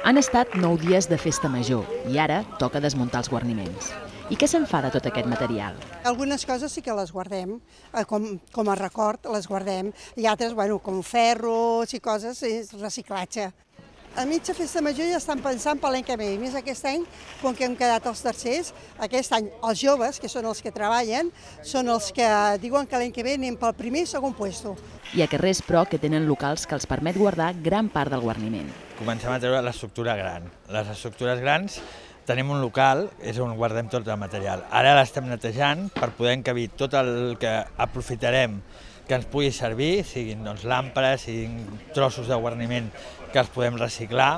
Han estat 9 dies de festa major i ara toca desmuntar els guarniments. I què se'n fa de tot aquest material? Algunes coses sí que les guardem, com a record les guardem, i altres, com ferros i coses, és reciclatge. A mitja festa major ja estan pensant per l'any que ve, i més aquest any, com que hem quedat els tercers, aquest any els joves, que són els que treballen, són els que diuen que l'any que ve anem pel primer i segon puesto. Hi ha carrers, però, que tenen locals que els permet guardar gran part del guarniment. Comencem a treure l'estructura gran. Les estructures grans tenim un local, és on guardem tot el material. Ara l'estem netejant per poder encabir tot el que aprofitarem que ens pugui servir, siguin làmpades, siguin trossos de guarniment que els podem reciclar.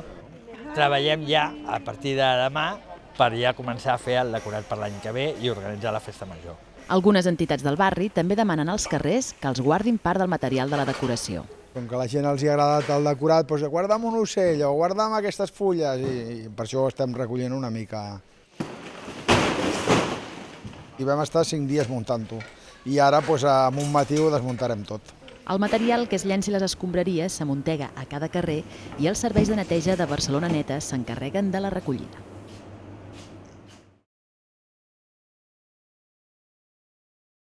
Treballem ja a partir de demà per ja començar a fer el decorat per l'any que ve i organitzar la festa major. Algunes entitats del barri també demanen als carrers que els guardin part del material de la decoració. Com que a la gent els ha agradat el decorat, doncs guarda'm un ocell o guarda'm aquestes fulles i per això estem recollint una mica. I vam estar 5 dies muntant-ho i ara amb un matí ho desmuntarem tot. El material que es llenci a les escombraries s'amuntega a cada carrer i els serveis de neteja de Barcelona Neta s'encarreguen de la recollida.